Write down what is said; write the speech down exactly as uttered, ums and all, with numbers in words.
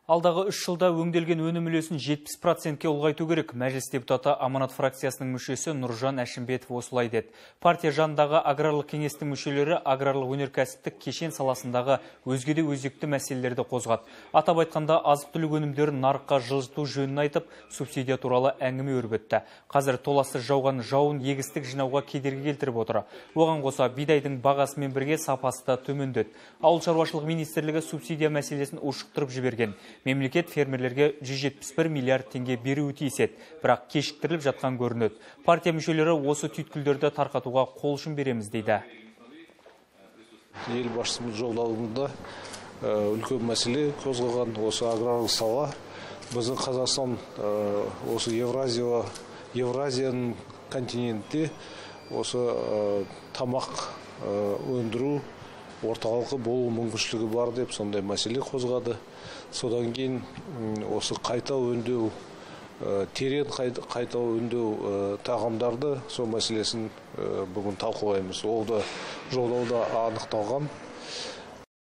Алдағы үш жылда өңделген өнім үлесін жетпіс процентке ұлғайту керек. Мәжіліс депутаты Аманат фракциясының мүшесі Нұржан Әшімбетов осылай деді. Партия жанындағы аграрлық кеңестің мүшелері аграрлық өнеркәсіптік кешен саласындағы өзгеде өзекті мәселелерді қозғады. Атап айтқанда азық-түлік өнімдерін нарыққа жылжыту жөнін айтып, субсидия туралы әңгіме өрбітті. Қазір толассыз жауған жауын егістік жинауға кедергі келтіріп отыр. Оған қоса бидайдың бағасымен бірге сапасы да төмендеді. Ауыл шаруашылық министрлігі субсидия мәселесін ушықтырып жіберген. Мемлекет фермерлерге жүз жетпіс бір миллиард теңге беруі тиіс еді, бірақ кешіктіріліп жатқан көрінеді. Партия мүшелері осы түйткілдерді тарқатуға қол ұшын береміз дейді. Елбасымыз жолдауында үлкен мәселе қозғаған осы аграрлық сала. Біздің Қазақстан осы Евразия, Евразияның континентте осы тамақ өндіру орталығы болу мүмкіншілігі бар деп сондай мәселе қозғады. Содан кейін осы қайта өңдеу, терең қайта өңдеу тағамдарды сол мәселесін бүгін талқылаймыз. Ол да жолдауда анықталған.